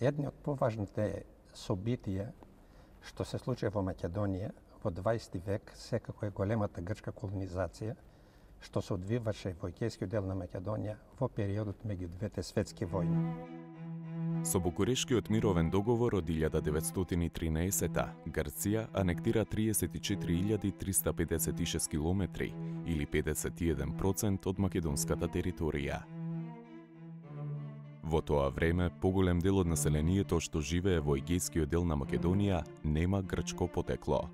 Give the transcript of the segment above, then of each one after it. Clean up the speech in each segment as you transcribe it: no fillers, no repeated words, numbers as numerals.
Едни од поважните собитија што се случи во Македонија во 20 век секако е големата грчка колонизација, што се одвиваше во егејскиот дел на Македонија во периодот меѓу двете светски војни. Со Букурешкиот мировен договор од 1913 Грција анектира 34.356 километри или 51% од македонската територија. Во тоа време, поголем дел од населението што живее во егејскиот дел на Македонија нема грчко потекло.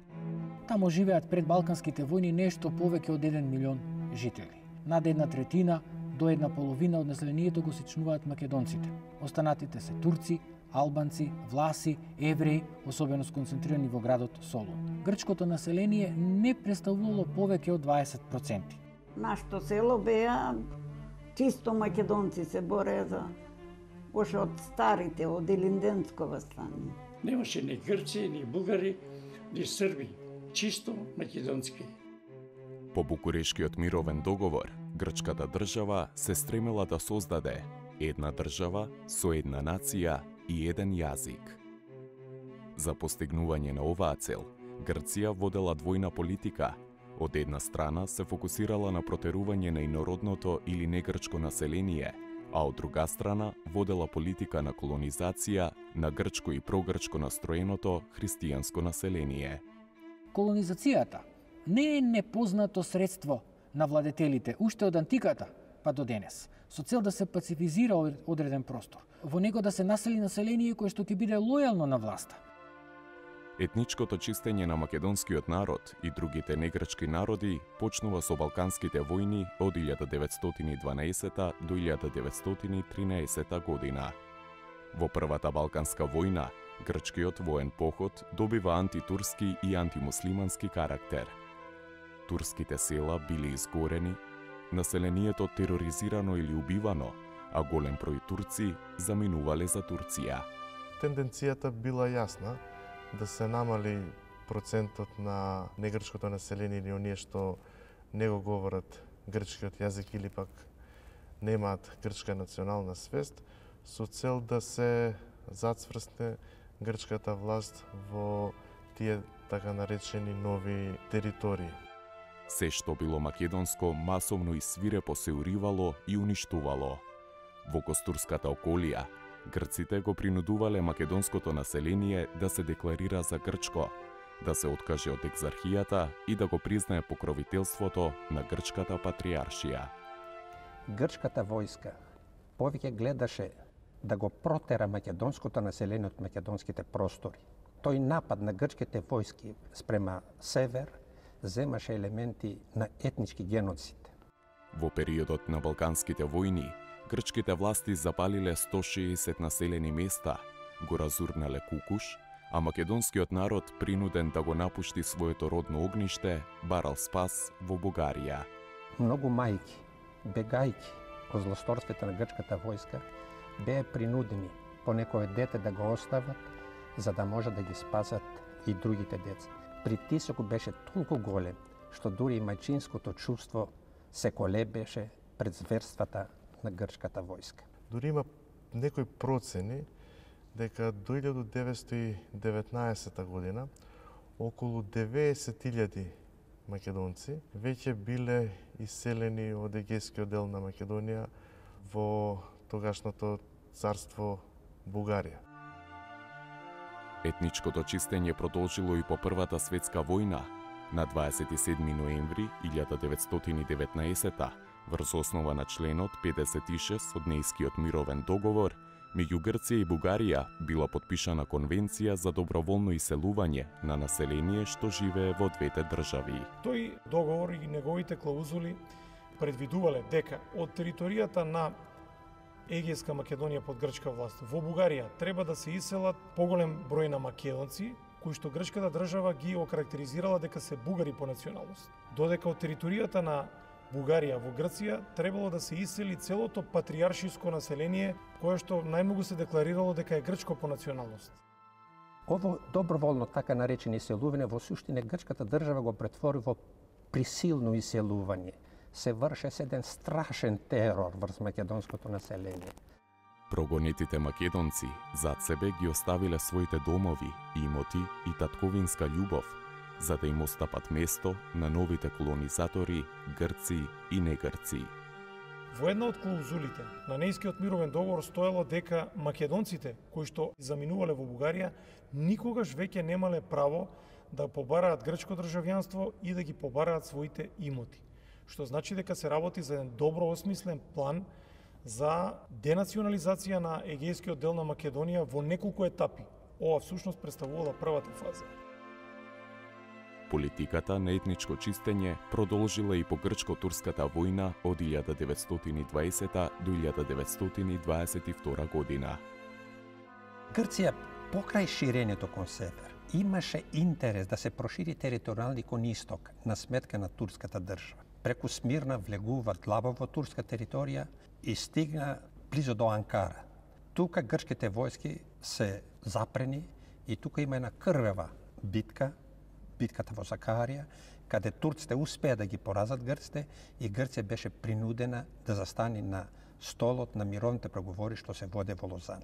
Тамо живеат пред балканските војни нешто повеќе од 1 милион жители. Над 1/3 до 1/2 од населението го сечнуваат македонците. Останатите се турци, албанци, власи, евреи, особено сконцентрирани во градот Солун. Грчкото население не представувало повеќе од 20%. Нашето село беа чисто македонци се бореа за още од старите, од Илинденско вастание. Немаше ни грци, ни бугари, ни срби, чисто македонски. По Букурешкиот мировен договор, грчката држава се стремела да создаде една држава со една нација и еден јазик. За постигнување на оваа цел, Грција водела двојна политика. Од една страна се фокусирала на протерување на инородното или негрчко население, а од друга страна водела политика на колонизација на грчко и прогрчко настроеното христијанско население. Колонизацијата не е непознато средство на владетелите уште од антиката па до денес, со цел да се пацифизира одреден простор, во него да се насели население кое што ќе биде лојално на власта. Етничкото чистење на македонскиот народ и другите негрчки народи почнува со Балканските војни од 1912 до 1913 година. Во првата Балканска војна, грчкиот воен поход добива антитурски и антимуслимански карактер. Турските села биле изгорени, населението тероризирано или убивано, а голем број турци заминувале за Турција. Тенденцијата била јасна да се намали процентот на негрчкото население или оние што не го говорат грчкиот јазик или пак немаат грчка национална свест, со цел да се зацврсне грчката власт во тие така наречени нови територии. Се што било македонско масовно и свирепо се уривало и уништувало. Во Костурската околија, грците го принудувале македонското население да се декларира за грчко, да се откаже од екзархијата и да го признае покровителството на грчката патриаршија. Грчката војска повеќе гледаше да го протера македонското население од македонските простори. Тој напад на грчките војски спрема север земаше елементи на етнички геноцид. Во периодот на Балканските војни, грчките власти запалиле 160 населени места, го разурнале Кукуш, а македонскиот народ принуден да го напушти своето родно огниште, барал спас во Бугарија. Многу мајки, бегајки од злосторството на грчката војска, беа принудени по некое дете да го остават, за да може да ги спасат и другите деца. Притисокот беше толку голем, што дури и мајчинското чувство се колебеше пред зверствата на грчката војска. Дури има некои процени дека до 1919 година околу 90.000 македонци веќе биле иселени од егејскиот дел на Македонија во тогашното царство Бугарија. Етничкото чистење продолжило и по Првата светска војна. На 27 ноември 1919 врз основа на членот 56 од Нејскиот мировен договор, меѓу Грција и Бугарија била подпишана конвенција за доброволно иселување на население што живее во двете држави. Тој договор и неговите клаузули предвидувале дека од територијата на Егејска Македонија под грчка власт во Бугарија треба да се иселат поголем број на македонци, кои што грчката држава ги окарактеризирала дека се бугари по националност. Додека од територијата на Бугарија во Грција требало да се исели целото патриаршиско население кое што најмногу се декларирало дека е грчко по националност. Ово доброволно така наречени иселување во суштина грчката држава го претвори во присилно иселување. Се врше еден страшен терор врз македонското население. Прогонетите македонци зад себе ги оставиле своите домови, имоти и татковинска љубов, за да им остапат место на новите колонизатори, грци и негрци. Во една од клаузулите на Неискиот мировен договор стоело дека македонците кои што заминувале во Бугарија никогаш веќе немале право да побараат грчко државјанство и да ги побараат своите имоти. Што значи дека се работи за еден добро осмислен план за денационализација на егејскиот дел на Македонија во неколку етапи. Ова всушност представувала првата фаза. Политиката на етничко чистење продолжила и по грчко-турската војна од 1920 до 1922 година. Грција покрај ширењето кон север имаше интерес да се прошири територијални кон исток на сметка на турската држава. Преку Смирна влегува длабово во турска територија и стигна близо до Анкара. Тука грчките војски се запрени и тука има една крвава битка, битката во Закарија, каде турците успеа да ги поразат грците и Грција беше принудена да застани на столот на мировните преговори што се воде во Лозан.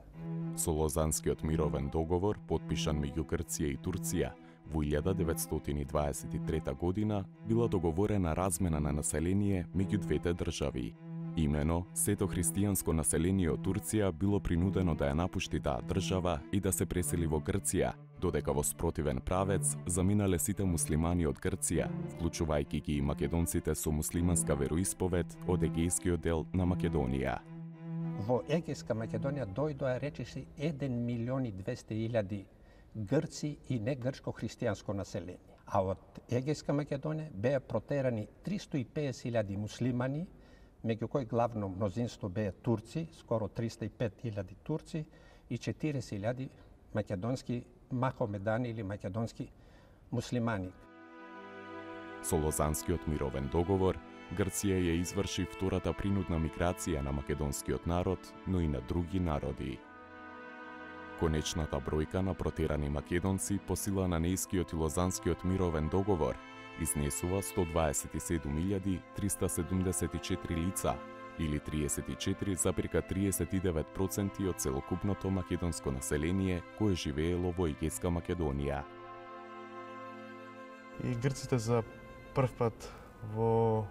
Со Лозанскиот мировен договор, подпишан меѓу Грција и Турција, во 1923 година била договорена размена на население меѓу двете држави. Имено, сето христијанско население од Турција било принудено да ја напушти таа држава и да се пресели во Грција, додека во спротивен правец заминале сите муслимани од Грција, вклучувајќи ги и македонците со муслиманска вероисповед од егејскиот дел на Македонија. Во егејска Македонија дојдоа речиси 1.200.000 грци и негрчко христијанско население. А од егејска Македонија беа протерани 350.000 муслимани, меѓу кои главно мнозинство беа турци, скоро 305.000 турци и 40.000 македонски махомедани или македонски муслимани. Со Лозанскиот мировен договор, Грција ја изврши втората принудна миграција на македонскиот народ, но и на други народи. Конечната бројка на протерани македонци по сила на Неискиот и Лозанскиот мировен договор изнесува 127.374 лица, или 34,39% од целокупното македонско население кое живеело во егејска Македонија. И грците за прв пат во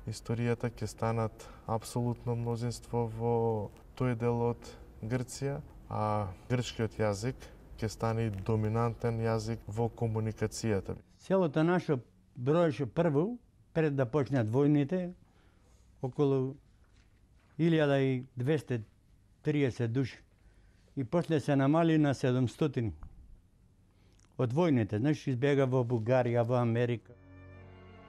историјата ќе станат апсолутно мнозинство во тој дел од Грција, а грчкиот јазик ќе стане доминантен јазик во комуникацијата. Селото наше броеше прво, пред да почнат војните, околу 1230 души. И после се намали на 700. Од војните, знаеш, избега во Бугарија, во Америка.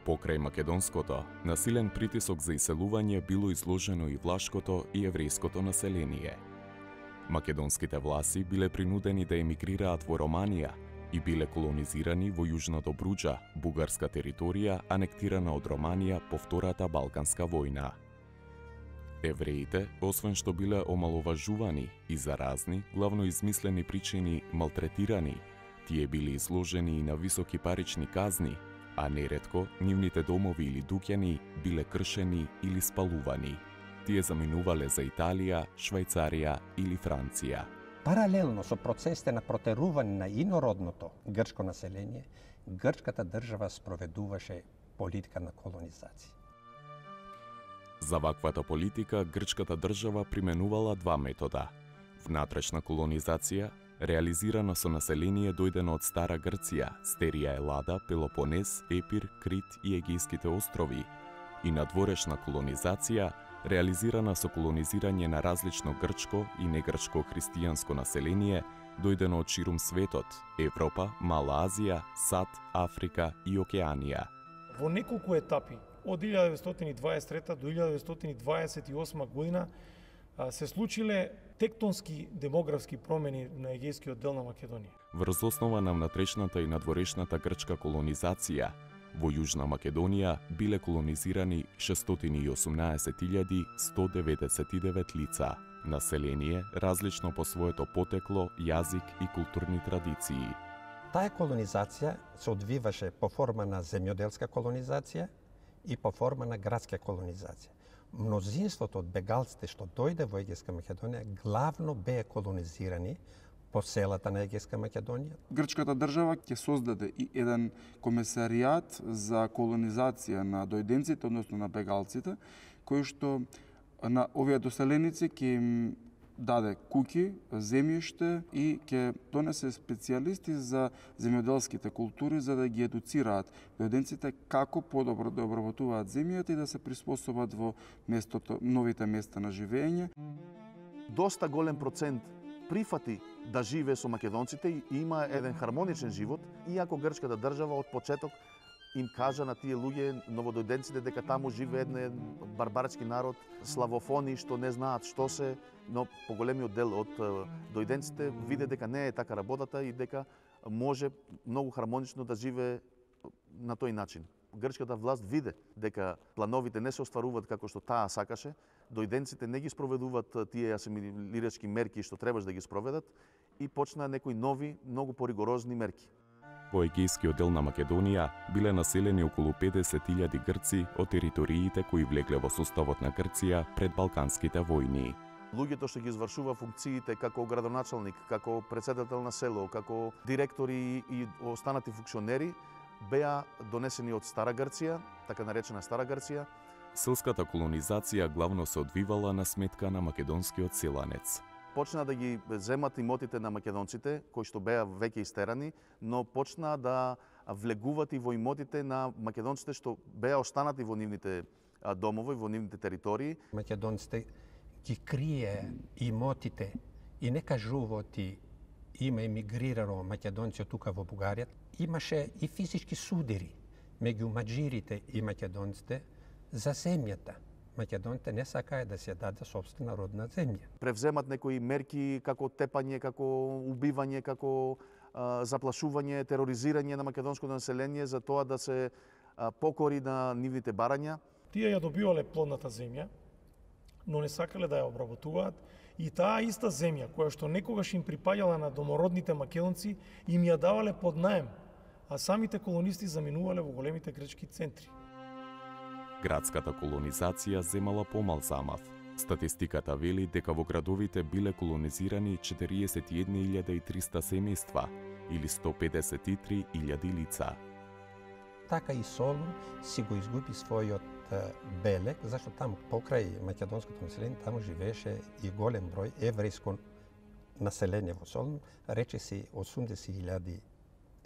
Покрај македонското, насилен притисок за иселување било изложено и влашкото и еврејското население. Македонските власи биле принудени да емигрираат во Романија и биле колонизирани во јужното Бруџа, бугарска територија анектирана од Романија по Втората Балканска војна. Евреите, освен што биле омаловажувани и за разни, главно измислени причини малтретирани, тие биле изложени и на високи парични казни, а неретко нивните домови или дуќани биле кршени или спалувани. Тие заминувале за Италија, Швајцарија или Франција. Паралелно со процесите на протерување на инородното грчко население, грчката држава спроведуваше политика на колонизација. За ваквата политика грчката држава применувала два метода. Внатрешна колонизација, реализирана со население дојдено од Стара Грција, Стерија Елада, Пелопонез, Епир, Крит и Егејските острови, и надворешна колонизација, реализирана со колонизирање на различно грчко и негрчко христијанско население, дојдено од ширум светот, Европа, Мала Азија, САД, Африка и Океанија. Во неколку етапи, од 1923 до 1928 година, се случиле тектонски демографски промени на егејскиот дел на Македонија. Врз основа на внатрешната и надворешната грчка колонизација, во Јужна Македонија биле колонизирани 618.199 лица, население различно по своето потекло, јазик и културни традиции. Таа колонизација се одвиваше по форма на земјоделска колонизација и по форма на градска колонизација. Мнозинството од бегалците што дојде во Егејска Македонија главно беа колонизирани по селата на Егејска Македонија. Грчката држава ќе создаде и еден комесаријат за колонизација на дојденците, односно на бегалците, кој што на овие доселеници ќе им даде куќи, земјиште и ќе донесе специјалисти за земјоделските култури за да ги едуцираат дојденците како подобро да обработуваат земјата и да се приспособат во местото, новите места на живење. Доста голем процент прифати да живее со македонците и има еден хармоничен живот, иако грчката држава од почеток им кажа на тие луѓе, новодојденците, дека таму живее еден барбарски народ, славофони што не знаат што се, но поголемиот дел од дојденците виде дека не е така работата и дека може многу хармонично да живее на тој начин. Грчката власт виде дека плановите не се остваруваат како што таа сакаше, дојденците не ги спроведуваат тие асимилирачки мерки што требаш да ги спроведат и почнаа некои нови, многу поригорозни мерки. Во егејскиот дел на Македонија биле населени околу 50.000 грци од териториите кои влегле во составот на Грција пред Балканските војни. Луѓето што ги извршува функциите како градоначалник, како претседател на село, како директори и останати функционери беа донесени од Стара Грција, така наречена Стара Грција. Селската колонизација главно се одвивала на сметка на македонскиот селанец. Почна да ги земат имотите на македонците, кои што беа веќе истерани, но почна да влегуват и во имотите на македонците што беа останати во нивните домови, во нивните територии. Македонците ги крие имотите и не кажуваат има емигрирано македонци од тука во Бугарија. Имаше и физички судири меѓу маџирите и македонците за земјата. Македонците не сакаат да се даде собствена родна земја. Превземат некои мерки како тепање, како убивање, како заплашување, тероризирање на македонското население за тоа да се покори на нивните барања. Тие ја добивале плодната земја, но не сакале да ја обработуваат и таа иста земја која што некогаш им припаѓала на домородните македонци им ја давале под наем, а самите колонисти заминувале во големите грчки центри. Градската колонизација земала помал замав. Статистиката вели дека во градовите биле колонизирани 41.300 семејства или 153.000 лица. Така и Солун си го изгуби својот белег, зашто таму покрај македонското население таму живееше и голем број еврејско население во Солун, речиси 80.000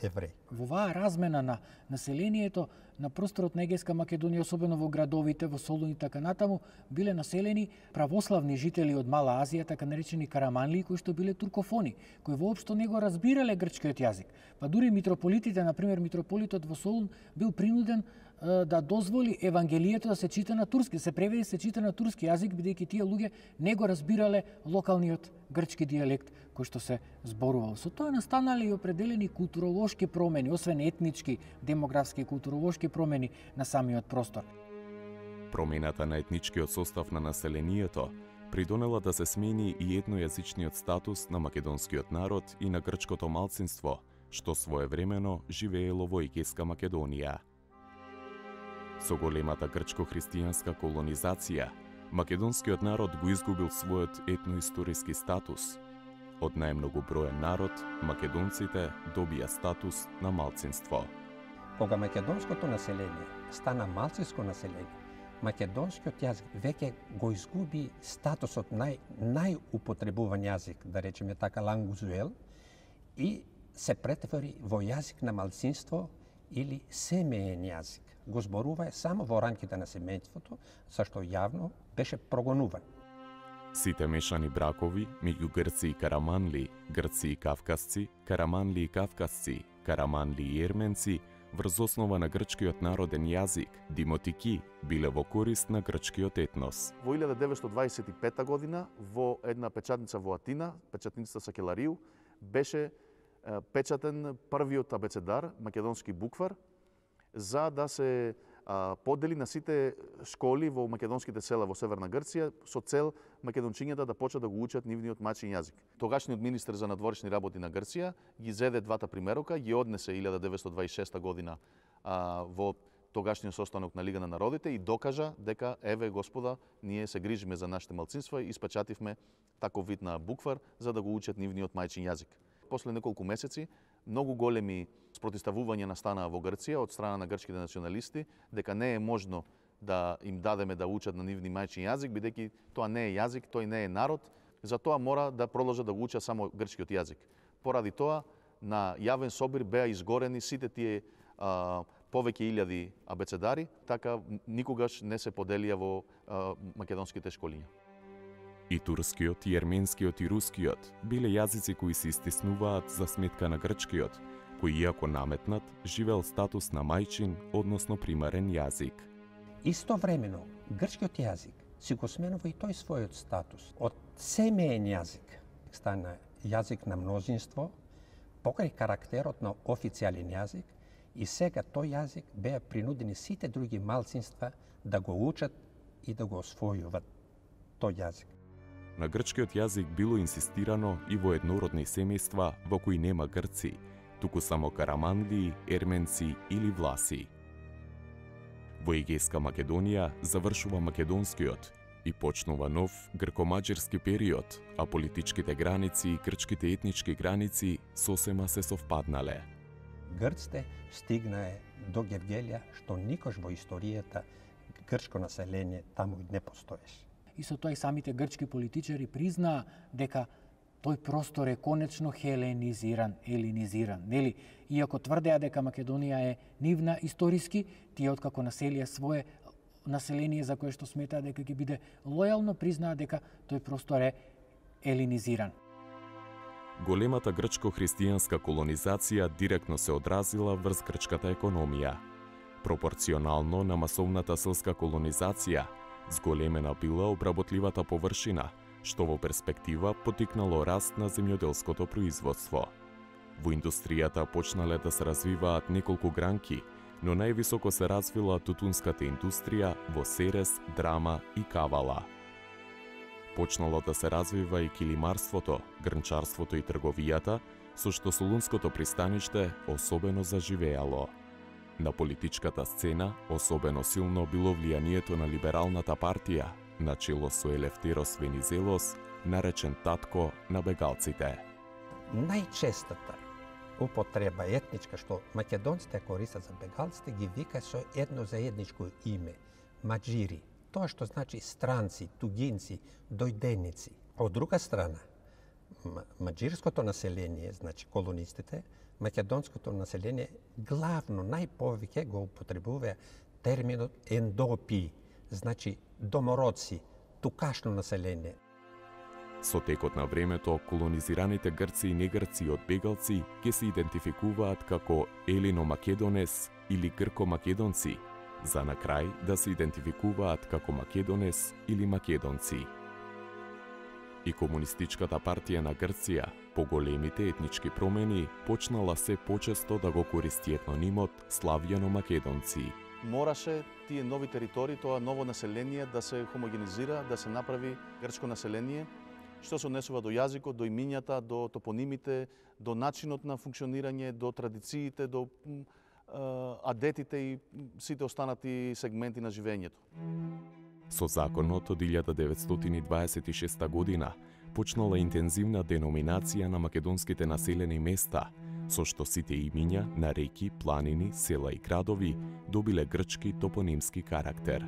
евреи. Во оваа размена на населението на просторот на Егејска Македонија, особено во градовите, во Солун и така натаму, биле населени православни жители од Мала Азија, така наречени караманли, кои што биле туркофони, кои воопшто не го разбирале грчкиот јазик. Па дури митрополитите, например митрополитот во Солун, бил принуден да дозволи Евангелието да се чита на турски, се преведе се чита на турски јазик, бидејќи тие луѓе не го разбирале локалниот грчки дијалект кој што се зборувал. Со тоа настанале и определени културолошки промени, освен етнички, демографски и културолошки промени на самиот простор. Промената на етничкиот состав на населението придонела да се смени и етнојазичниот статус на македонскиот народ и на грчкото малцинство, што своевремено живеело во Егејска Македонија. Со големата грчко-христијанска колонизација, македонскиот народ го изгубил својот етноисториски статус. Од најмногу броен народ, македонците добија статус на малцинство. Кога македонското население стана малцинско население, македонскиот јазик веќе го изгуби статусот најупотребуван јазик, да речеме така лангузуел, и се претвори во јазик на малцинство или семеен јазик. Го зборува само во рамките на семејството, зашто јавно беше прогонуван. Сите мешани бракови меѓу грци и караманли, грци и кавказци, караманли и кавказци, караманли и ерменци, врз основа на грчкиот народен јазик, димотики, биле во корист на грчкиот етнос. Во 1925 година, во една печатница во Атина, печатницата Сакеларију, беше печатен првиот абецедар, македонски буквар, за да се подели на сите школи во македонските села во Северна Грција со цел македончињата да почнат да го учат нивниот мајчин јазик. Тогашниот министер за надворешни работи на Грција ги зеде двата примерока, ги однесе 1926 година во тогашниот состанок на Лига на народите и докажа дека еве господа, ние се грижиме за нашите малцинства и испечативме таков вид на буквар за да го учат нивниот мајчин јазик. После неколку месеци многу големи спротиставувања настанаа во Грција од страна на грчките националисти дека не е можно да им дадеме да учат на нивни мајчин јазик, бидејќи тоа не е јазик, тој не е народ, затоа мора да продолжат да го учат само грчкиот јазик. Поради тоа, на јавен собир беа изгорени сите тие повеќе илјади абецедари, така никогаш не се поделија во македонските школиња. И турскиот, и ерменскиот, и рускиот биле јазици кои се истиснуваат за сметка на грчкиот, кој иако наметнат, живеел статус на мајчин, односно примарен јазик. Истовремено, грчкиот јазик си го сменува и тој својот статус. Од семеен јазик стана јазик на мнозинство, покрај карактерот на официјален јазик, и сега тој јазик беа принудени сите други малцинства да го учат и да го освојуваат тој јазик. На грчкиот јазик било инсистирано и во еднородни семејства во кои нема грци, туку само караманлии, ерменци или власи. Во Егејска Македонија завршува македонскиот и почнува нов грко-маđарски период, а политичките граници и грчките етнички граници сосема се совпаднале. Грците стигнае до Гевгелија, што никош во историјата грчко население таму не постоеше. И со тоа и самите грчки политичари признаа дека тој простор е конечно елинизиран, нели? Иако тврдеа дека Македонија е нивна историски, тие откако населија свое население за кое што сметаа дека ќе биде лојално, признаа дека тој простор е елинизиран. Големата грчко-христијанска колонизација директно се одразила врз грчката економија. Пропорционално на масовната селска колонизација, зголемена била обработливата површина, што во перспектива потикнало раст на земјоделското производство. Во индустријата почнале да се развиваат неколку гранки, но највисоко се развила тутунската индустрија во Серес, Драма и Кавала. Почнало да се развива и килимарството, грнчарството и трговијата, со што Солунското пристаниште особено заживеало. На политичката сцена особено силно било влијанието на либералната партија, начело со Елефтерос Венизелос, наречен татко на бегалците. Најчестата употреба етничка што македонците користат за бегалците ги вика со едно заедничко име – маđири. Тоа што значи странци, тугинци, дојденици. Од друга страна, маđирското население, значи колонистите, македонското население главно најповеќе го употребува терминот ендопи, значи домородци, тукашно население. Со текот на времето, колонизираните грци и негрци од бегалци ќе се идентификуваат како елино-македонес или грко-македонци, за на крај да се идентификуваат како македонес или македонци. И Комунистичката партија на Грција, по големите етнички промени, почнала се почесто да го користи етнонимот славјано-македонци. Мораше тие нови територии, тоа ново население да се хомогенизира, да се направи грчко население, што се однесува до јазикот, до имињата, до топонимите, до начинот на функционирање, до традициите, до адетите и сите останати сегменти на живењето. Со законот од 1926 година почнала интензивна деноминација на македонските населени места, со што сите имиња на реки, планини, села и градови добиле грчки топонимски карактер.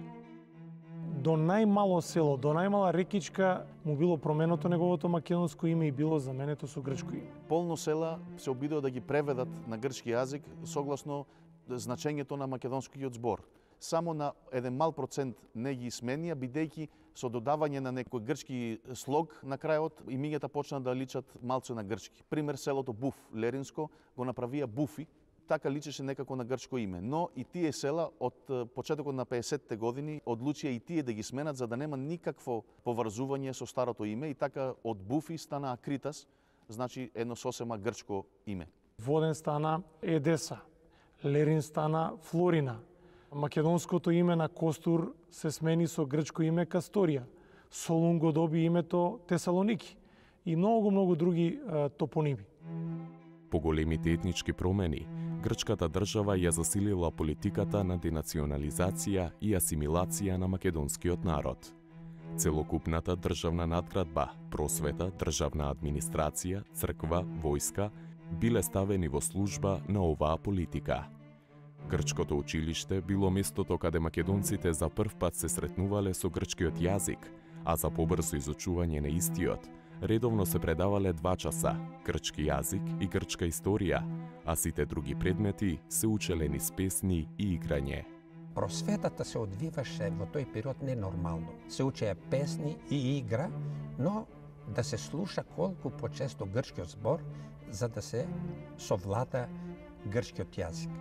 До најмало село, до најмала рекичка му било променето неговото македонско име и било заменето со грчко име. Полно села се обидува да ги преведат на грчки јазик согласно значењето на македонскиот збор. Само на еден мал процент не ги сменија, бидејќи со додавање на некој грчки слог на крајот имињата почна да личат малце на грчки. Пример, селото Буф, Леринско, го направија Буфи, така личеше некако на грчко име. Но и тие села од почетокот на 50-те години одлучија и тие да ги сменат за да нема никакво поврзување со старото име и така од Буфи стана Акритас, значи едно сосема грчко име. Воден стана Едеса, Лерин стана Флорина. Македонското име на Костур се смени со грчко име Касторија. Солун го доби името Тесалоники и многу други топоними. По големите етнички промени, грчката држава ја засилила политиката на денационализација и асимилација на македонскиот народ. Целокупната државна надградба, просвета, државна администрација, црква, војска биле ставени во служба на оваа политика. Грчкото училиште било местото каде македонците за прв пат се сретнувале со грчкиот јазик, а за побрзо изучување на истиот, редовно се предавале 2 часа грчки јазик и грчка историја, а сите други предмети се учеле низ песни и играње. Просветата се одвиваше во тој период ненормално. Се учеа песни и игра, но да се слуша колку почесто грчкиот збор за да се совлада грчкиот јазик.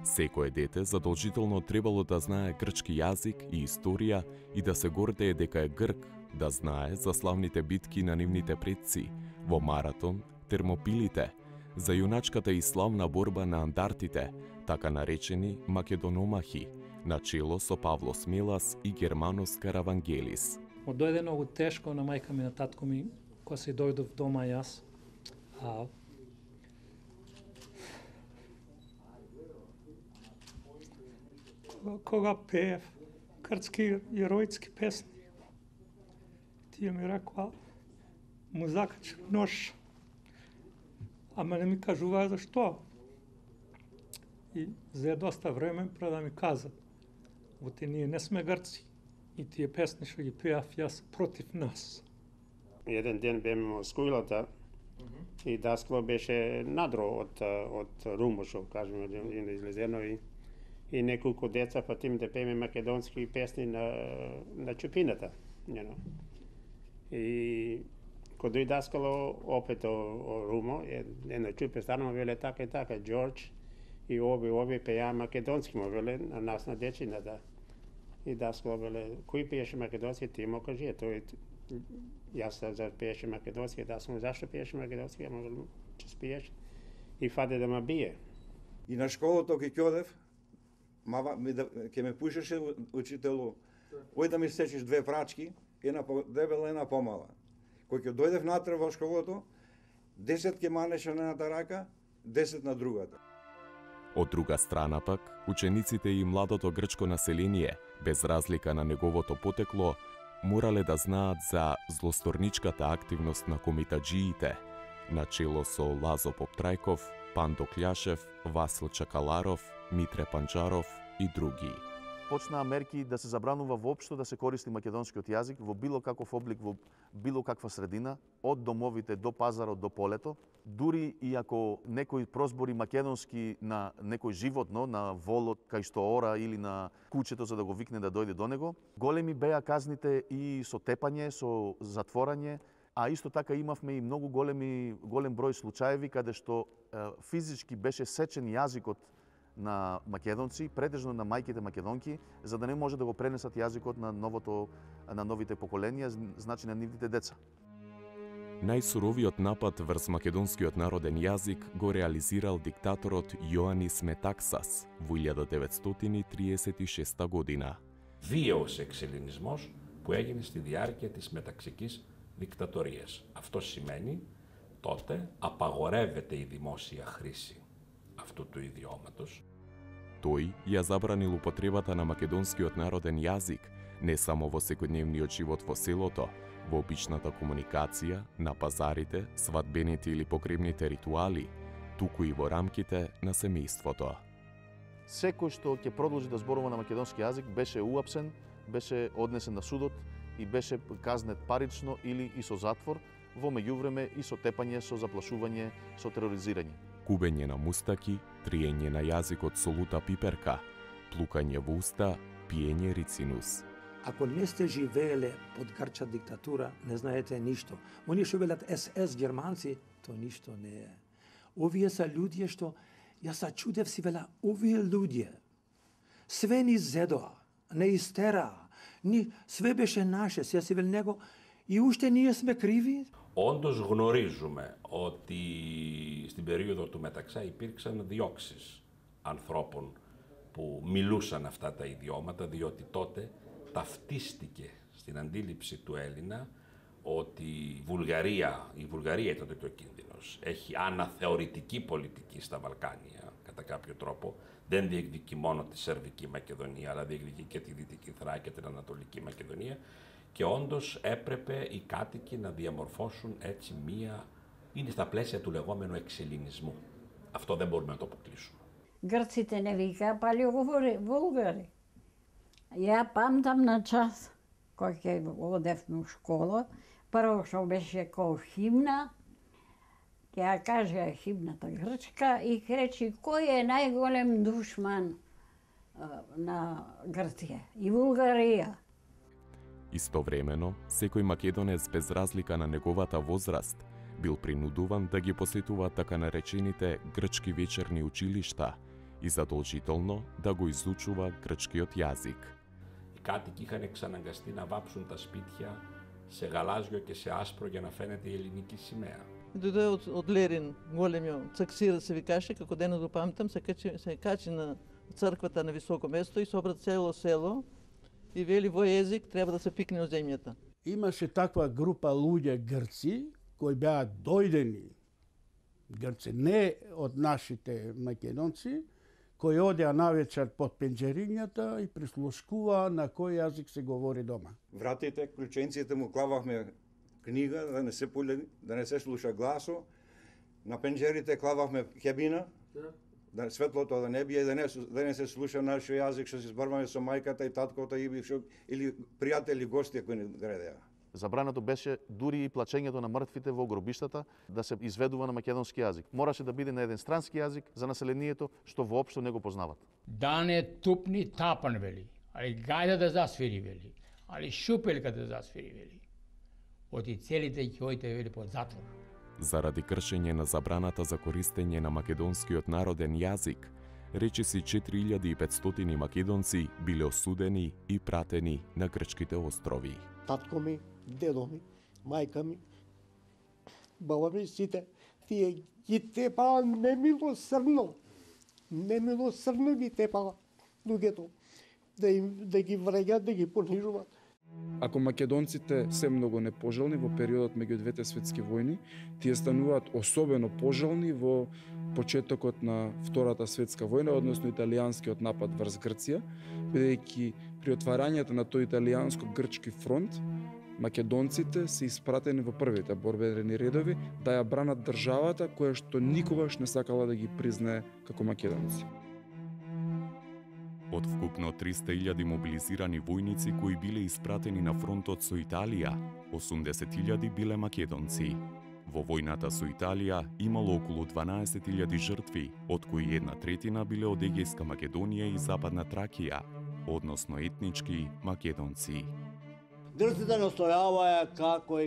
Секое дете задолжително требало да знае грчки јазик и историја и да се гордее дека е грк, да знае за славните битки на нивните предци, во Маратон, Термопилите, за јуначката и славна борба на андартите, така наречени македономахи, на чело со Павло Смелас и Германос Каравангелис. Дојде многу тешко на мајка ми, на татко ми, кога се дојдов дома јас. Кога пеев грчки јеројски песни, тие ми рекоа, му закачи нож, ама не ми кажуваа зашто. И за доста време пред да ми казат, оти ние не сме грци и тие песни што ги пеав јас против нас. Еден ден беме во скулата и даскало беше надро од Румо, што кажеме, излезено и неколку деца патим да пееме македонски песни на чупината. И кога дојде даскало опет о Румо, една чупе станува веле така и така, Џорџ и ови пеја македонски, му веле на нас на дечината. И даскало веле, кој пееше македонски, ти му кажи, тој јас за пееше македонски, даскало зашто пееше македонски, ама веле, че спиеш. И фаде да ме бие. И на школото ке ќодев, ке ме пушеше учителу, ој да ми сечиш 2 прачки, една дебела, една помала. Кој ќе дојдев натре во школото, 10 ке манеше на едната рака, 10 на другата. Од друга страна пак, учениците и младото грчко население, без разлика на неговото потекло, морале да знаат за злосторничката активност на комитаџиите, начело со Лазо Поптрајков, Пандо Кљашев, Васил Чакаларов, Митре Панџаров и други. Почнаа мерки да се забранува воопшто да се користи македонскиот јазик во било каков облик, во било каква средина, од домовите до пазарот до полето. Дури и ако некој прозбори македонски на некој животно, на волот кај што ора или на кучето за да го викне да дојде до него, големи беа казните и со тепање, со затворање, а исто така имавме и многу голем број случаеви каде што физички беше сечен јазикот на македонци, претежно на мајките македонки, за да не може да го пренесат јазикот на новите поколенија, значи на нивните деца. Најсуровиот напад врз македонскиот народен јазик го реализирал диктаторот Јоанис Метаксас во 1936 година. Βίαιος εξελληνισμός που έγινε στη διάρκεια της μεταξικής δικτατορίας. Αυτό σημαίνει τότε απαγορεύεται η δημόσια χρήση αυτού του ιδιώματος. Тој ја забранил употребата на македонскиот народен јазик не само во секојдневниот живот во селото, во обичната комуникација, на пазарите, свадбените или погребните ритуали, туку и во рамките на семејството. Секој што ќе продолжи да зборува на македонски јазик беше уапсен, беше однесен на судот и беше казнет парично или и со затвор, во меѓувреме и со тепање, со заплашување, со тероризирање. Кубење на мустаки, триење на јазикот со лута пиперка, плукање во уста, пиење рицинус. Ако не сте живееле под грчка диктатура, не знаете ништо. Они што велат СС германци, то ништо не е. Овие са луѓе што, јас се чудев си вела, овие луѓе, све ни зедоа, не истераа, све беше наше, сега си вел него, и уште ние сме κρίβοι. Όντως γνωρίζουμε ότι στην περίοδο του Μεταξά υπήρξαν διώξεις ανθρώπων που μιλούσαν αυτά τα ιδιώματα, διότι τότε ταυτίστηκε στην αντίληψη του Έλληνα ότι η Βουλγαρία είναι τότε ο κίνδυνος. Έχει αναθεωρητική πολιτική στα Βαλκάνια, κατά κάποιο τρόπο. Δεν διεκδικεί μόνο τη Σερβική Μακεδονία, αλλά διεκδικεί και τη Δυτική Θράκη και την Ανατολική Μακεδονία. Και όντως έπρεπε οι κάτοικοι να διαμορφώσουν έτσι είναι στα πλαίσια του λεγόμενου εξελληνισμού. Αυτό δεν μπορούμε να το αποκλείσουμε. Грците не вика палеоговори Вулгари. Ја памтам на час, кој ќе одевме у школа, прво што беше кој химна, ќе ја кажа химната грчка и речи кој е најголем душман на Грција и Вулгарија. Истовремено, секој македонец без разлика на неговата возраст бил принудуван да ги посетува така наречените грчки вечерни училишта и задолжително да го изучува грчкиот јазик. Οι κάτοικοι είχαν εξαναγκαστεί να βάψουν τα σπίτια σε γαλάζιο και σε άσπρο για να φαίνεται η ελληνική σημαία. Дојде од Лерин, големиот цаксира се викаше, како денес го памтам, се качи на црквата на високо место и собра цело село и вели во език треба да се пикне од земјата. Имаше таква група луѓе грци кои беа дојдени грци, не од нашите македонци, кои одеа навечер под пенџерињата и прислушкуваа на кој јазик се говори дома. Вратите, клученците му клавахме книга, да не се слуша гласо. На пенџерите клавахме хебина, да светлото да не бие, да не се слуша нашиот јазик, што се зборуваме со мајката и таткото или пријатели, гости кои не градеа. Забрането беше дури и плачењето на мртвите во гробиштата да се изведува на македонски јазик. Мораше да биде на еден странски јазик за населението што воопшто не го познават. Да не тупни тапан вели, али гајда да засвири вели, али шупелка да засвири вели. Оти целите ќе ојте вели под затвор. Заради кршење на забраната за користење на македонскиот народен јазик, речиси 4500 македонци биле осудени и пратени на грчките острови. Татко ми, дедо ми, мајка ми, баба ми, сите, тие ги тепаа немилосрдно ги тепаа луѓето, да ги вреѓат, да ги понижуваат. Ако македонците се многу непожелни во периодот меѓу двете светски војни, тие стануваат особено пожелни во почетокот на Втората светска војна, односно италијанскиот напад врз Грција, бидејќи при отварањето на тој италијанско-грчки фронт, македонците се испратени во првите борбени редови да ја бранат државата која што никогаш не сакала да ги признае како македонци. Од вкупно 300.000 мобилизирани војници кои биле испратени на фронтот со Италија, 80.000 биле македонци. Во војната со Италија имало околу 12.000 жртви, од кои 1/3 биле од Егејска Македонија и Западна Тракија, односно етнички македонци. Грците настојаваја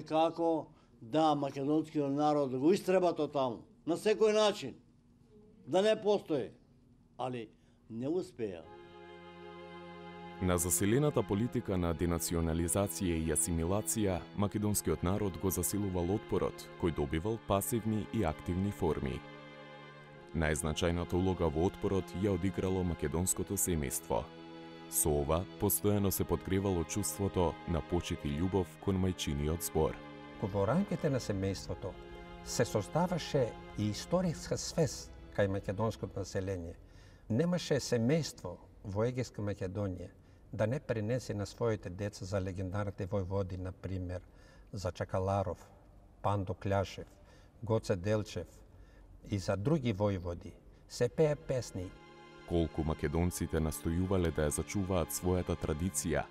како да македонскиот народ го истребат од таму, на секој начин, да не постои, али не успеа. На заселената политика на денационализација и асимилација, македонскиот народ го засилувал отпорот, кој добивал пасивни и активни форми. Најзначајната улога во отпорот ја одиграло македонското семејство. Со ова, постојано се подгревало чувството на почит и љубов кон мајчиниот збор. Во рамките на семејството се создаваше и историска свест кај македонското население. Немаше семејство во Егејска Македонија да не пренесе на своите деца за легендарните војводи, например, за Чакаларов, Пандо Кљашев, Гоце Делчев и за други војводи, се пее песни. Колку македонците настојувале да ја зачуваат својата традиција,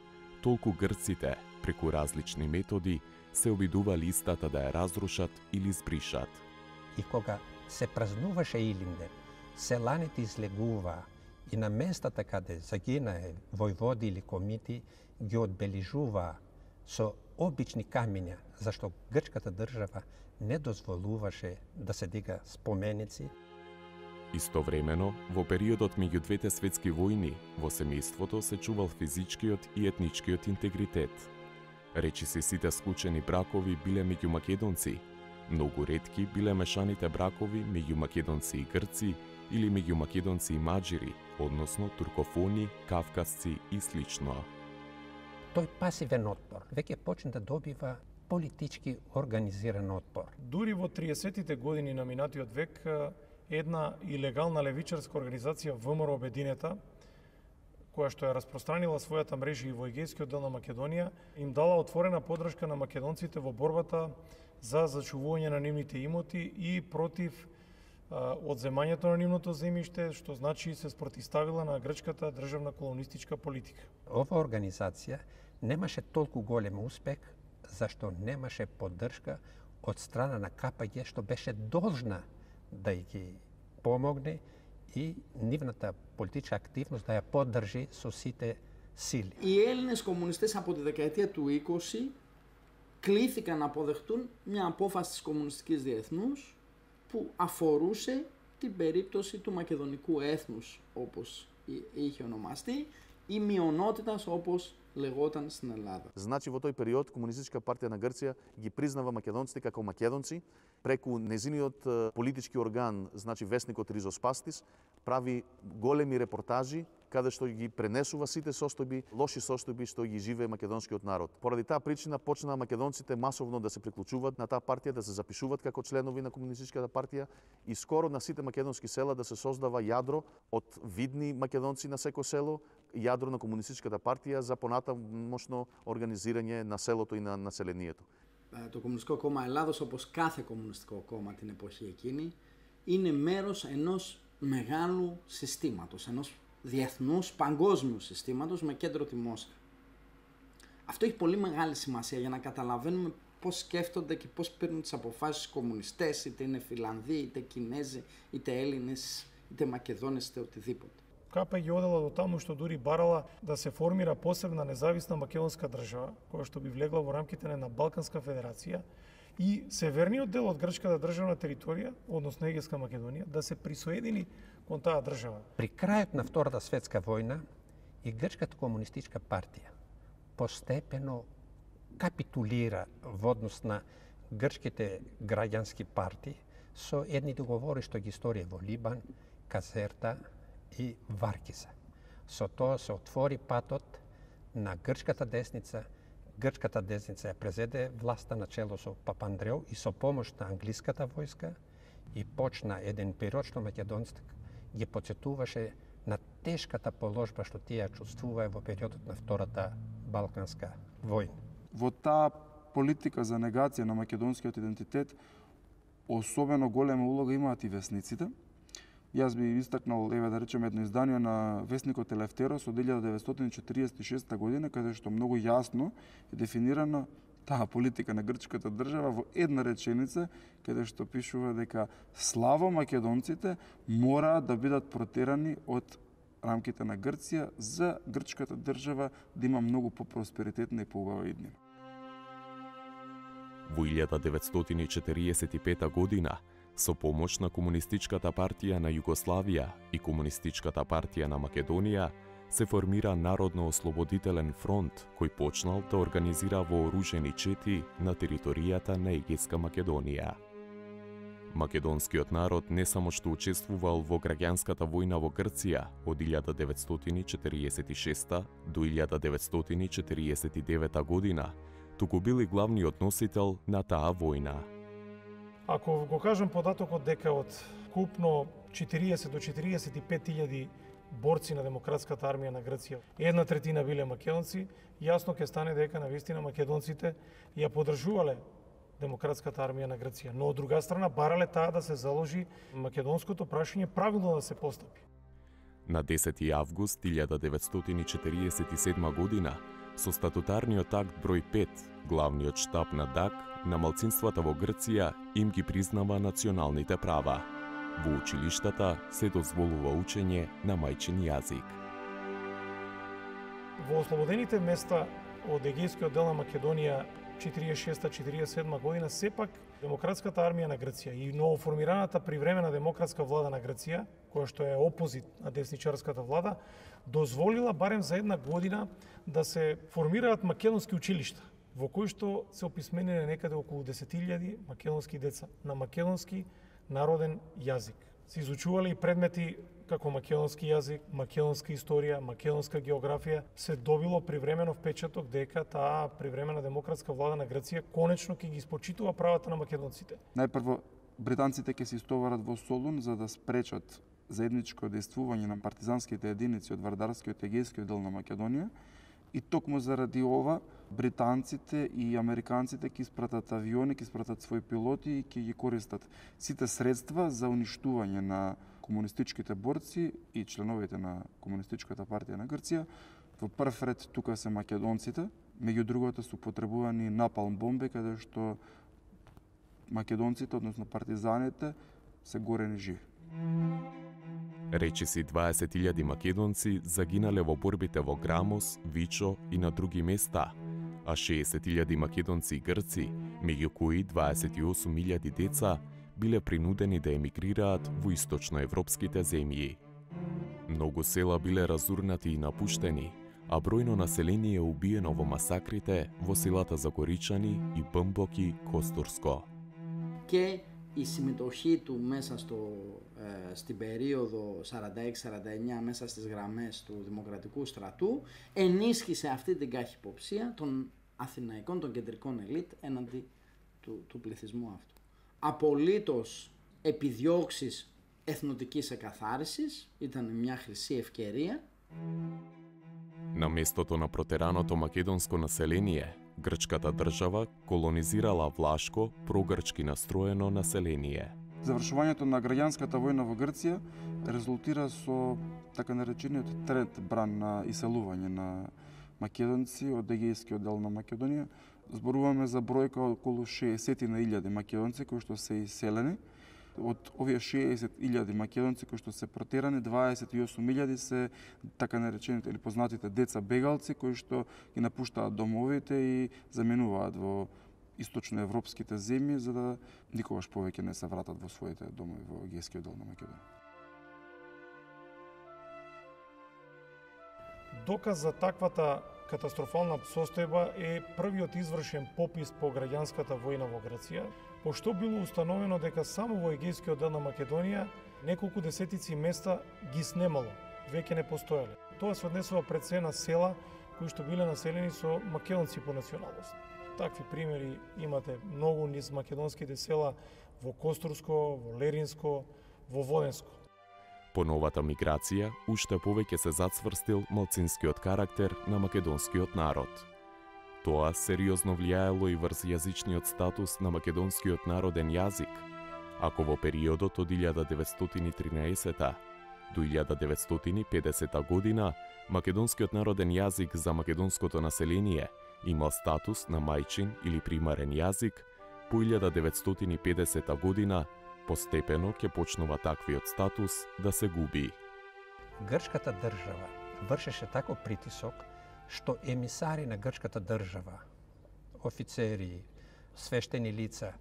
толку грците, преку различни методи, се обидували истата да ја разрушат или збришат. И кога се празнуваше Илинден, селаните излегуваа и на местата каде загинае војводи или комити ги одбележуваа со обични камиња, зашто грчката држава не дозволуваше да се дига споменици. Истовремено, во периодот меѓу двете светски војни, во семејството се чувал физичкиот и етничкиот интегритет. Речиси сите склучени бракови биле меѓу македонци, многу ретки биле мешаните бракови меѓу македонци и грци или меѓу македонци и маđири, односно туркофони, кавказци и слично. Тој пасивен отпор веќе почна да добива политички организиран отпор. Дури во 30-тите години на минатиот век, една илегална левичарска организација ВМРО Обединета, која што ја распространила својата мрежа и во егејскиот дел на Македонија, им дала отворена поддршка на македонците во борбата за зачувување на нивните имоти и против одземањето на нивното земјиште, што значи се спротивставила на грчката државна колонистичка политика. Ова организација немаше толку голем успех, зашто немаше поддршка од страна на КПГ, што беше должна да ги помогне и нивната политичка активност да ја поддржи со сите сили. Οι Έλληνες κομμουνιστές από τη δεκαετία του 20 κλήθηκαν να αποδεχτούν μια απόφαση της Κομμουνιστικής Διεθνούς που αφορούσε την περίπτωση του μακεδονικού έθνους, όπως είχε ονομαστεί, ή μειονότητας, όπως λεγόταν στην Ελλάδα. Значи во тој период Комунистичка партија на Грција ги признава македонците како македонци, преку незиниот политички орган, значи весникот Ризоспастис, прави големи репортажи каде што ги пренесува сите состојби, лоши состојби што ги живее македонскиот народ. Поради таа причина почнаа македонците масовно да се приклучуваат на таа партија, да се запишуваат како членови на Комунистичката партија и скоро на сите македонски села да се создава јадро од видни македонци на секој село, јадро на Комунистичката партија за понатамошно организирање на селото и на населението. Το Κομμουνιστικό Κόμμα Ελλάδος, όπως κάθε κομμουνιστικό κόμμα την εποχή εκείνη, είναι μέρος ενός μεγάλου συστήματος, ενός διεθνούς παγκόσμιου συστήματος με κέντρο τη Μόσχα. Αυτό έχει πολύ μεγάλη σημασία για να καταλαβαίνουμε πώς σκέφτονται και πώς παίρνουν τις αποφάσεις οι κομμουνιστές, είτε είναι Φιλανδοί, είτε Κινέζοι, είτε Έλληνες, είτε Μακεδόνες, είτε οτιδήποτε. КПГ одела до таму што дури барала да се формира посебна независна македонска држава, која што би влегла во рамките на Балканска федерација и северниот дел од грчката државна територија, односно Егејска Македонија, да се присоедини кон таа држава. При крајот на Втората светска војна и Грчката комунистичка партија постепено капитулира во однос на грчките граѓански партии со едни договори што ги сторија во Либан, Казерта и Варкиза. Со тоа се отвори патот на грчката десница. Грчката десница ја презеде власта на чело со Папандреу и со помош на англиската војска и почна еден период што македонците ги потсетуваше на тешката положба што тие чувствуваа во периодот на Втората Балканска војна. Во таа политика за негација на македонскиот идентитет особено голема улога имаат и весниците. Јас би истакнал, еве да речем, едно издание на весникот Елефтерос од 1946 година, каде што многу јасно е дефинирана таа политика на грчката држава во една реченица, каде што пишува дека славо македонците мора да бидат протерани од рамките на Грција за грчката држава да има многу по-просперитетна и поубава иднина. Во 1945 година, со помош на Комунистичката партија на Југославија и Комунистичката партија на Македонија, се формира Народно-ослободителен фронт, кој почнал да организира вооружени чети на територијата на Егејска Македонија. Македонскиот народ не само што учествувал во граѓанската војна во Грција од 1946 до 1949 година, туку бил и главниот носител на таа војна. Ако го кажам податокот дека од купно 40 до 45.000 борци на Демократската армија на Грција, 1/3 биле македонци, јасно ќе стане дека навистина македонците ја поддржувале Демократската армија на Грција, но од друга страна барале таа да се заложи македонското прашање правилно да се постапи. На 10 август 1947 година, со статутарниот акт број 5, главниот штаб на ДАК на малцинствата во Грција им ги признава националните права. Во училиштата се дозволува учење на мајчин јазик. Во ослободените места од Егејскиот дел на Македонија 46-47 година, сепак Демократската армија на Грција и новоформираната привремена демократска влада на Грција, која што е опозит на десничарската влада, дозволила барем за една година да се формираат македонски училишта, во кои што се описмениле некаде околу 10.000 македонски деца на македонски народен јазик. Се изучувале и предмети како македонски јазик, македонска историја, македонска географија, се добило привременов печаток дека таа привремена демократска влада на Грција конечно ќе ги испочитува правата на македонците. Најпрво, британците ќе се истоварат во Солун за да спречат заедничко дејствување на партизанските единици од Вардарскиот и Егејскиот дел на Македонија, и токму заради ова британците и американците ќе испратат авиони, ќе испратат своји пилоти и ќе ги користат сите средства за уништување на комунистичките борци и членовите на Комунистичката партија на Грција. Во прв ред тука се македонците, меѓу другото се употребувани напалм бомби, каде што македонците, односно партизаните, се горени живи. Речиси 20.000 македонци загинале во борбите во Грамос, Вичо и на други места, а 60.000 македонци и грци, меѓу кои 28.000 деца, биле принудени да емигрираат во источноевропските земји. Многу села биле разурнати и напуштени, а бројно население убиено во масакрите во селата Загоричани и Бмбоки, Костурско. Και η συμμετοχή του μέσα στην περίοδο 46-49 μέσα στις γραμμές του Δημοκρατικού Στρατού ενίσχυσε αυτή την καχυποψία των αθηναϊκών, των κεντρικών ελίτ έναντι του πληθυσμού αυτού. Απολύτως επιδιώξεις εθνοτικής εκαθάρισης ήταν μια χρυσή ευκαιρία. На местото на протераното македонско население, грчката држава колонизирала влашко, прогрчки настроено население. Завршувањето на граѓанската војна во Грција резултира со така наречениот тренд бран на иселување на македонци од Егејскиот дел на Македонија. Зборуваме за бројка околу 60.000 македонци кои што се иселени. Од овие 60.000 македонци кои што се протерани, 28.000 се така наречените или познатите деца бегалци кои што ги напуштаат домовите и заменуваат во источноевропските земји за да никогаш повеќе не се вратат во своите домови во Егејскиот дел на Македонија. Доказ за таквата катастрофална состојба е првиот извршен попис по граѓанската војна во Грција, пошто било установено дека само во Егејскиот дел на Македонија неколку десетици места ги снемало, веќе не постоеле. Тоа се однесува пред се на села кои што биле населени со македонци по националност. Такви примери имате многу низ македонските села во Костурско, во Леринско, во Воденско. По новата миграција, уште повеќе се зацврстил малцинскиот карактер на македонскиот народ. Тоа сериозно влијаело и врз јазичниот статус на македонскиот народен јазик, ако во периодот од 1913 до 1950 година македонскиот народен јазик за македонското население имал статус на мајчин или примарен јазик, по 1950 година постепено ќе почнува таквиот статус да се губи. Грчката држава вршеше тако притисок што емисари на грчката држава, офицери, свештени лица,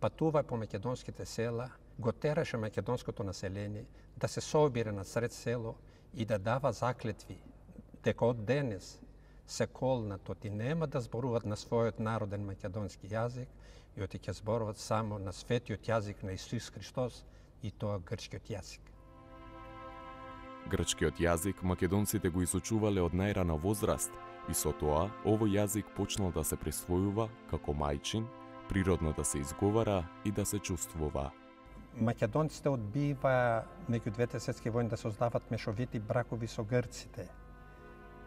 патува по македонските села, го тераше македонското население да се собира на сред село и да дава заклетви дека од денес се колнатот и нема да зборуваат на својот народен македонски јазик, и оти ќе зборуваат само на светиот јазик на Исус Христос, и тоа грчкиот јазик. Грчкиот јазик македонците го изучувале од најрана возраст и со тоа овој јазик почнал да се присвојува како мајчин, природно да се изговара и да се чувствува. Македонците одбива меѓу двете светски војни да создават мешовити бракови со грците,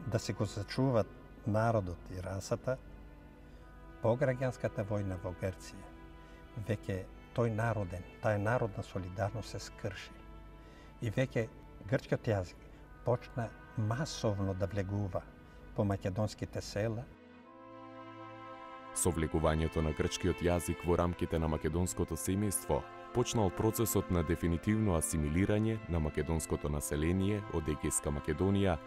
да се го зачуват народот и расата. По граѓанската војна во Грција, веќе тој народен, таа народна солидарност се скрши. И веќе грчкиот јазик почна масовно да влегува по македонските села. Со влегувањето на грчкиот јазик во рамките на македонското семејство, почнал процесот на дефинитивно асимилирање на македонското население од Егејска Македонија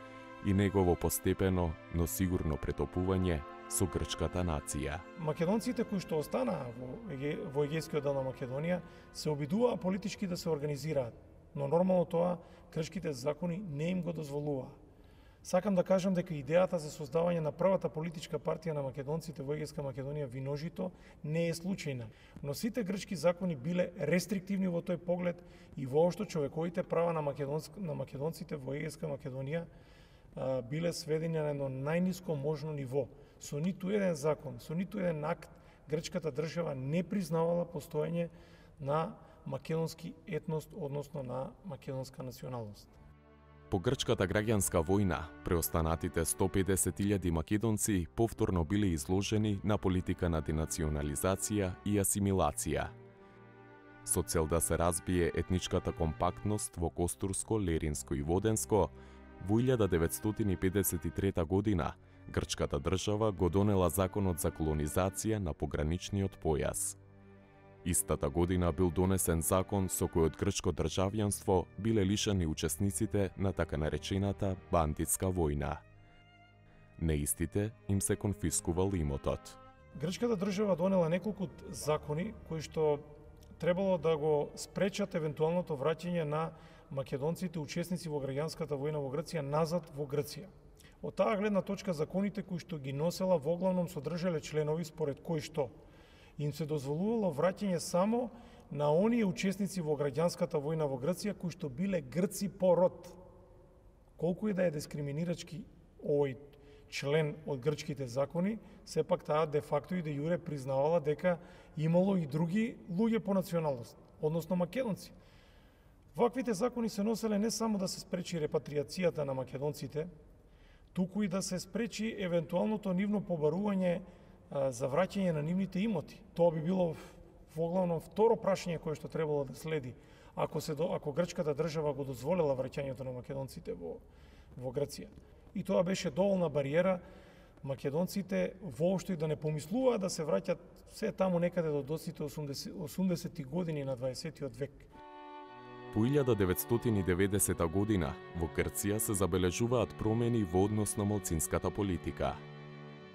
и негово постепено, но сигурно претопување со грчката нација. Македонците кои што останаа во Егејскиот дел на Македонија се обидуваа политички да се организираат, но нормално тоа грчките закони не им го дозволуваа. Сакам да кажам дека идејата за создавање на првата политичка партија на македонците во Егејска Македонија Виножито не е случајна, но сите грчки закони биле рестриктивни во тој поглед и воопшто човековите права на македонците во Егејска Македонија биле сведени на едно најниско можно ниво. Со ниту еден закон, со ниту еден акт, грчката држава не признавала постоење на македонски етност, односно на македонска националност. По грчката граѓанска војна, преостанатите 150.000 македонци повторно биле изложени на политика на денационализација и асимилација. Со цел да се разбие етничката компактност во Костурско, Леринско и Воденско, во 1953 година грчката држава го донела законот за колонизација на пограничниот појас. Истата година бил донесен закон со кој од грчко државјанство биле лишени учесниците на така наречената бандитска војна. Неистите им се конфискувал имотот. Грчката држава донела неколку закони кои што требало да го спречат евентуалното враќање на македонците учесници во граѓанската војна во Грција назад во Грција. Од таа гледна точка законите кои што ги носела воглавном содржале членови според кои што им се дозволувало враќање само на оние учесници во граѓанската војна во Грција кои што биле грци по род. Колку и да е дискриминирачки овој член од грчките закони, сепак таа де факто и де јуре признавала дека имало и други луѓе по националност, односно македонци. Ваквите закони се носеле не само да се спречи репатриацијата на македонците, туку и да се спречи евентуалното нивно побарување за враќање на нивните имоти. Тоа би било воглавно второ прашање кое што требало да следи ако грчката држава го дозволела враќањето на македонците во Грција. И тоа беше доволна бариера македонците воопшто и да не помислуваат да се враќат се таму некаде до доците 80-ти години на 20-тиот век. По 1990 година во Грција се забележуваат промени во однос на малцинската политика.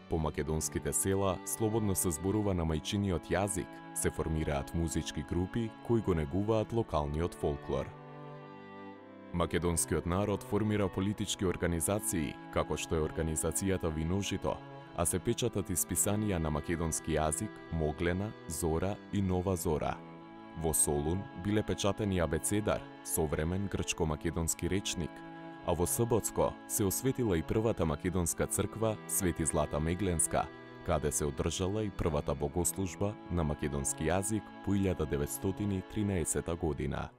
По македонските села слободно се зборува на мајчиниот јазик, се формираат музички групи кои го негуваат локалниот фолклор. Македонскиот народ формира политички организации, како што е организацијата Виножито, а се печатат исписанија на македонски јазик Моглена, Зора и Нова Зора. Во Солун биле печатени абецедар, современ грчко-македонски речник, а во Саботско се осветила и првата македонска црква Свети Злата Мегленска, каде се одржала и првата богослужба на македонски јазик по 1913 година.